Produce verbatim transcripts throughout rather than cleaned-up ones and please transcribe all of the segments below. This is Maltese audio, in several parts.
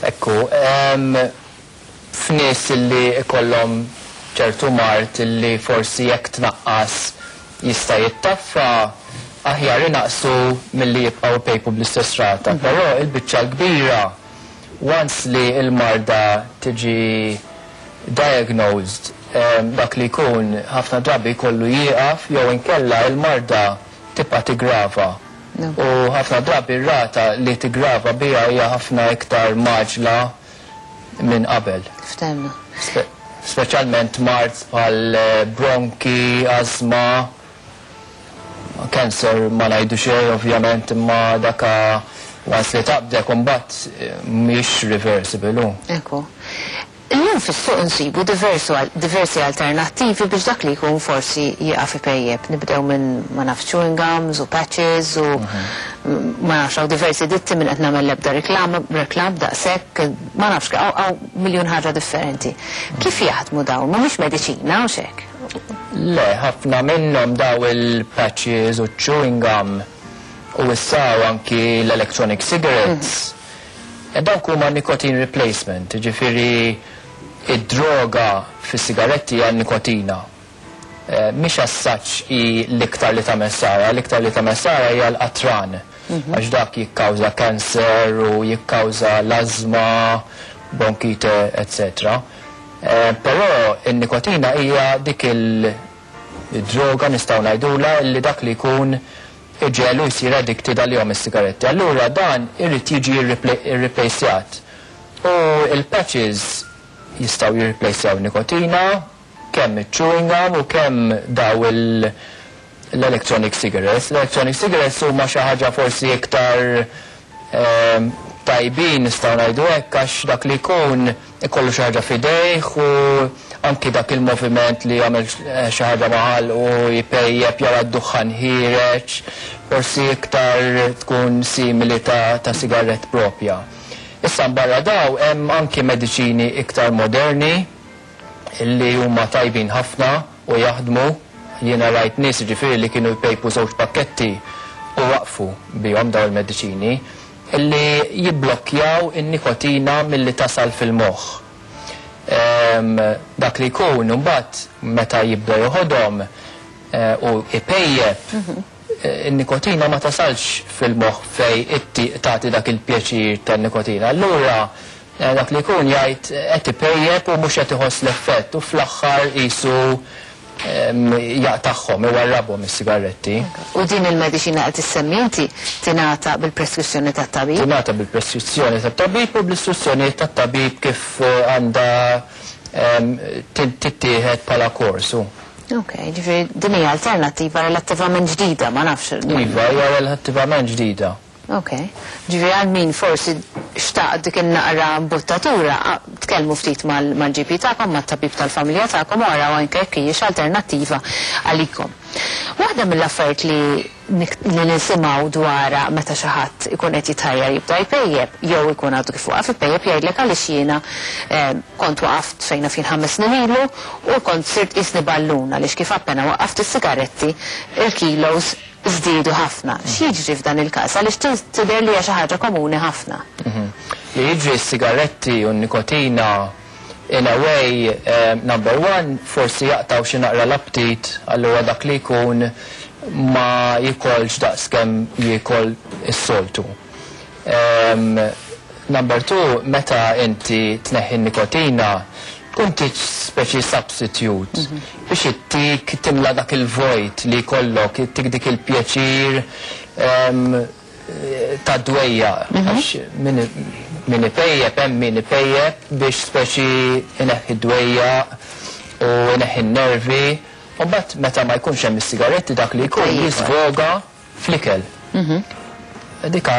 Ekku, f'nies li ikollhom ċertu mard li forsi jekk tnaqqas jista' jittaffa, aħjar inaqsu milli jibqgħu pejpu bl-istess rata. Mhm. Però il-biċċa l-kbira, once li il-marda tiġi diagnosed, dak li jkun ħafna drabi jkollu jieqaf jew inkella il-marda tibqa' tigrava. U ħafna drabi r-rata li tigrava biha hija ħafna iktar mgħaġġla minn qabel. Ftemna. Speċjalment mard bħal bronki, azma, cancer ma ngħidu xejn ovvjament, imma daka once li taqbdek imbagħad mhix reversible. Ekku. Illum fis-suq insibu diversi alternattivi biex dak li jkun forsi jieqaf ipejjeb. Nibdew minn, ma nafx, chewing gums u patches u ma nafx, hawn diversi ditti minn qed nagħmel l-ebda reklam, reklam daqshekk, ma nafx, hawn miljun ħaġa differenti. Kif jaħdmu dawn? Mhumiex mediċina u xek? Le, ħafna minnhom daw il-patches u chewing gum u issa anki l-electronic cigarettes. E dawk huma nicotine replacement, ġifieri id-droga fis-sigaretti hija nikotina. Eh, mhix as-such hi l-iktar li tagħmel ħsara, l-iktar li tagħmel ħsara hija l-qatran. Għax dak jikkawża cancer u jikkawża l-azma, bronkite, eccetera. Eh, però in-nikotina hija dik il-droga, nistgħu ngħidula, li dak li jkun iġegħlu jsir addicted għalihom is-sigaretti. Allura dan irid jiġi irreplacjat. U il-patches jistgħu jirreplacjaw nikotina, kemm il-chewing gum u kemm daw il- l-electronic cigarettes. L-electronic cigarettes huma xi ħaġa forsi iktar ehm, tajbin, nistgħu ngħidu hekk, għax dak li jkun ikollu xi ħaġa f'idejh u anki dak il-moviment li jagħmel xi ħaġa maħal u jpejjeb, jara d-duħħan ħiereġ, forsi iktar tkun simili ta', ta sigarett propja. Issa barra daw hemm anki mediċini iktar moderni li huma tajbin ħafna u jaħdmu. Jiena rajt nies, ġifieri, li kienu jpejpu żewġ pakketti u waqfu bihom daw il-mediċini illi jibblokkjaw in-nikotina milli tasal fil-moħħ. Em, dak li jkun mbagħad meta jibda joħodhom eh, u ipejjeb, eh, in-nikotina ma tasalx fil-moħħ fej itti tagħti dak il-pjaċir tan-nikotina. Allura eh, dak li jkun jgħid qed ipejjeb u mhux qed iħoss l-effett u fl-aħħar qisu em, jaqtagħhom, iwarrabhom is-sigaretti. U din il-mediċina qed issemmi inti tingħata bil-preskrizzjoni tat-tabib? Tingħata bil-preskrizzjoni tat-tabib u bl-istruzzjoni tat-tabib kif eh, għandha em, tittieħed bħala korsu. Ok, ġifieri din hija alternattiva relattivament ġdida, ma nafx. Iva, hija relattivament ġdida. Ok, ġifieri għal min forsi xtaq dik in-naqra buttatura, a- tkellmu ftit mal-G P tagħkom, mat-tabib tal-familja tagħkom u araw anke jekk hijiex alternattiva għalikom. Waħda mill-affarijiet li nik- li nisimgħu dwarha meta xi ħadd ikun qed jitħajjar jibda jpejjeb jew ikun għadu kif waqaf ipejjeb, jgħidlek għaliex jiena eh, kont waqaft fejna fin ħames snin ilu u kont sirt qisni ballun għaliex kif appena waqaft is-sigaretti il-kilos żdiedu ħafna. X'jiġri f'dan il-każ? Għaliex tidher li hija xi ħaġa komuni ħafna. Mhm. Li jiġri, s-sigaretti u n-nikotina in a way, um, number one, forsi jaqtaw xi naqra l-aptit, allura dak li jkun ma jikolx daqs kemm jiekol is-soltu. Um, number two, meta inti tneħħi n-nikotina, tkun tiġ speċi substitute biex ittik timla dak il-vojt li jkollok, ittik dik il-pjaċir um, ta' dwejjaq. Għax min min ipejjep, hemm min ipejjep biex speċi ineħħi dwejjaq u ineħħi n-nervi. U mbagħad meta ma jkunx hemm is-sigaretti, dak li jkun Tajjeb. jisvoga fl-ikel. Dika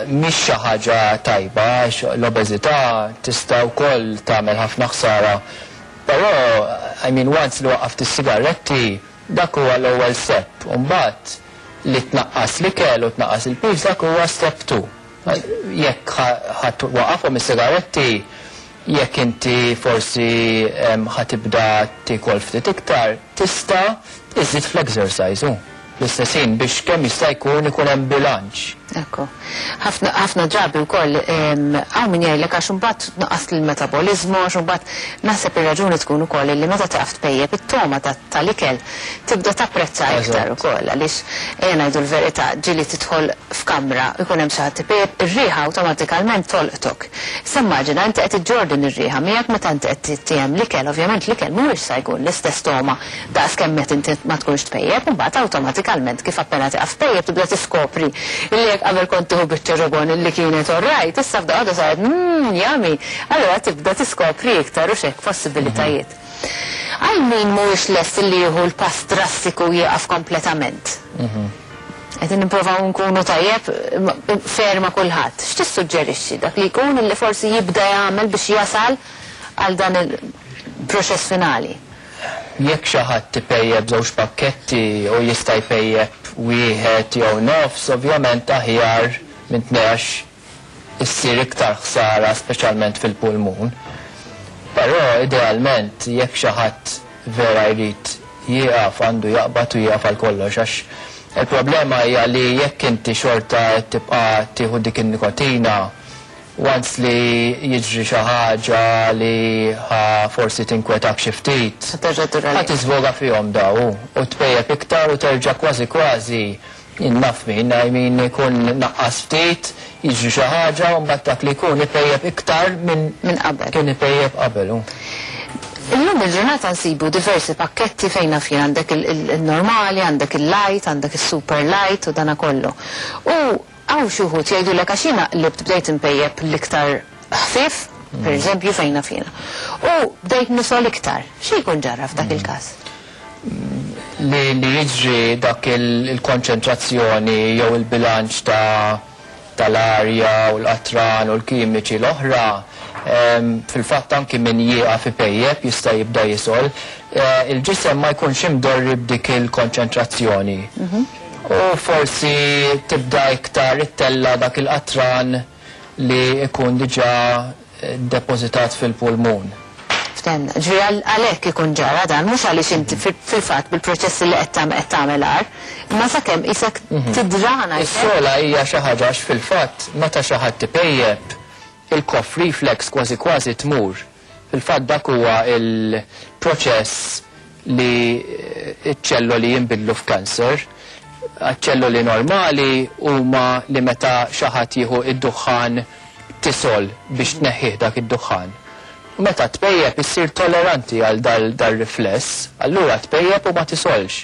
mhix xi ħaġa tajba, għax l-obeżità tista' wkoll tagħmel ħafna ħsara. Però, I mean, once li waqaft is-sigaretti, dak huwa l-ewwel step. U mbagħad li tnaqqas l-ikel u tnaqqas il-piż, dak huwa step two. Jekk ħa waqafhom is-sigaretti, jekk inti forsi em, ħa tibda tikol ftit iktar, tista' iżid fl-exercise u l-istess ħin biex kemm jista' jkun ikun hemm bilanċ. Ekku. Ħafna drabi wkoll hawn min jgħidlek għax imbagħad naqas l-metaboliżmu, għax imbagħad naħseb ir-raġuni tkun ukoll li meta taqaf tpejjep it-toma tal-ikel tibda tapprezza iktar ukoll, għaliex ejja ngħidu l-verità, ġieli tidħol f'kamra jkun hemm xi ħadd ipejjep, ir-riħa awtomatikament tolqtok. Issa immaġina inti qed iġġorr din ir-riħa miegħek meta inti qed tittiehem l-ikel, ovvjament l-ikel mhuwiex sa jkun l-istess toma daqs kemm meta inti ma tkunx tpejjep, u mbagħad awtomatikament kif appena tieqaf tpejjep tibda tiskopri li qabel kont tieħu biċċa ġobon li kienet orrajt, issa f'daqqa waħda saret mmm yummy. Allura tibda tiskopri iktar u xek possibilitajiet. Għal min mhuwiex lest li jieħu l-pass drastiku jieqaf kompletament. Qed nipprovaw nkunu tajjeb ferma kulħadd. X'tissuġġerixxi dak li jkun li forsi jibda jagħmel biex jasal għal dan il-proċess finali? Jekk xi ħadd ipejjep żewġ pakketti u jista' jpejjep wieħed jew nofs, ovvjament aħjar minn tnex issir iktar ħsara, speċjalment fil-pulmun. Però idealment jekk xi ħadd vera jrid jieqaf, għandu jaqbad u jieqaf għal kollox, għax il-problema hija li jekk inti xorta tibqa' tieħu dik in-nikotina, once li jiġri xi ħaġa li ħa forsi tinkwetak xi ftit, Terġa' tura ħa tiżvoga fihom daw u tpejjep iktar u terġa' kważi kważi naf min, I mean, ikun naqqas ftit, jiġri xi ħaġa u mbagħad dak li jkun ipejjep iktar minn Minn qabel. Kien ipejjep qabel. u. Illum il-ġurnata nsibu diversi pakketti fejn naf jien għandek il-normali, għandek il-light, għandek il-super light u dana kollu. U hawn xi wħud jgħidulek għax jiena qlibt bdejt impejjep l-iktar ħfif, per eżempju fejn naf jiena. U bdejt nisol iktar. Xi jkun ġara f'dak il-każ? Li, li jiġri dak il-konċentrazzjoni jew il-bilanċ ta' tal-arja u l-qatran u l-kimiċi l-oħra, em, fil-fatt anki min jieqaf ipejjep jista' jibda jisol, eh, il-ġisem ma jkunx imdorri b'dik il-konċentrazzjoni. U forsi tibda iktar ittella dak il-qatran li ikun diġà eh, depozitat fil-pulmun. Ftemna, ġifieri għalhekk ikun ġara dan, mhux għaliex inti fil-fatt bil-proċessi li qed tagħmel qed tagħmel agħar, imma sakemm isek tidrana. Is-sola hija xi ħaġa għax fil-fatt meta xi ħadd ipejjep il-cough reflex kważi kważi tmur. Fil-fatt dak huwa il-proċess li ċ-ċelloli jinbidlu f'kanser. Ċelloli normali huma li meta xi ħadd jieħu id-duħħan tisol biex tneħħih dak id-duħħan. U meta tpejjep issir tolleranti għal dal-rifless, allura tpejjep u ma tisolx.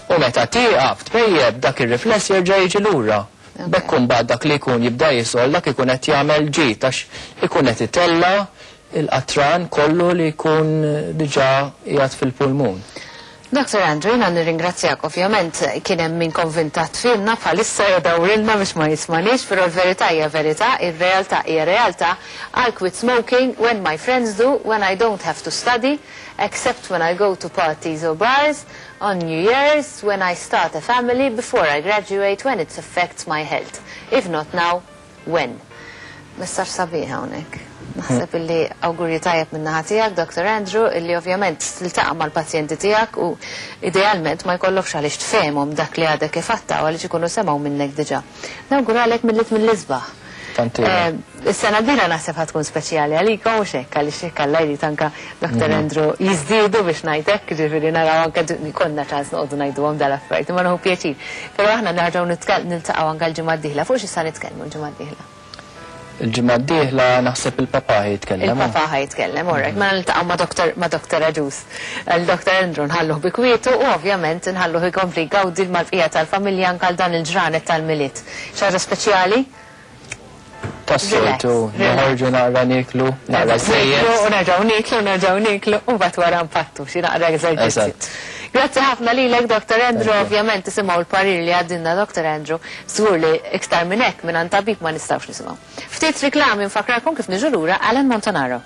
U meta tieqaf tpejjep dak ir-rifless jerġa' jiġi lura. B'hekk imbagħad dak li jkun jibda jisol dak ikun qed jagħmel ġid għax ikun qed itella il-qatran kollu li jkun diġà qiegħed fil-pulmun. Doktor Andrew, jiena nirringrazzjak, ovvjament kien hemm min konvinta tfilna bħalissa jdawrilna biex ma jismanix, però l-verità hija verità, ir-realtà hija realtà. I quit smoking when my friends do, when I don't have to study, except when I go to parties or bars, on New Year's, when I start a family, before I graduate, when it affects my health. If not now, when? Messaġġ sabiħ hawnhekk. Naħseb illi awgurju tajjeb minn naħa tiegħek, Doktor Andrew, illi ovvjament tiltaqa' mal-pazjenti tiegħek u idealment ma jkollokx għaliex tfehmhom dak li għadek kif għatta u għaliex ikunu semgħu minnek diġà. Nawguralek Milied mill-isbaħ. Tanti. Eh, Is-sena d-dieħla naħseb ħa tkun speċjali għalikom u xek, għaliex hekk Alla jrid anka Doktor Andrew jiżdiedu biex ngħidlek, ġifieri naraw anke konna ċans noqogħdu ngħiduhom dal-affarijiet, imma nieħu pjaċir. Però aħna nerġgħu niltaqgħu anke l-ġimgħa d-dieħla, fuq xi sa nitkellmu l-ġimgħa d-dieħla? Il-ġimgħa d-dieħla naħseb il-papa jitkellem. Il-papa ħa jitkellem, orrek, ma niltaqgħu ma' Doktor ma' Doktor Agius. Il-Doktor Andrew nħalluh bi kwietu u ovvjament nħalluh ikompli jgawdi mal-bqija tal-familja anke għal dan il-ġranet tal-Milied. Xi ħaġa speċjali? Tas-soltu, Relax, relax. noħorġu naqra niklu, naqra żejjed. U nerġgħu niklu, nerġgħu niklu, u mbagħad wara npattu xi naqra eżerċizzju. Eżatt. Grazzi ħafna lilek, Doktor Andrew, Thank you. ovvjament tisimgħu l-parir li għaddinna Doktor Andrew, żgur li iktar minn hekk minn tabib ma nistgħux nisimgħu. Ftit riklami nfakrakom kif niġu lura Alan Montanaro.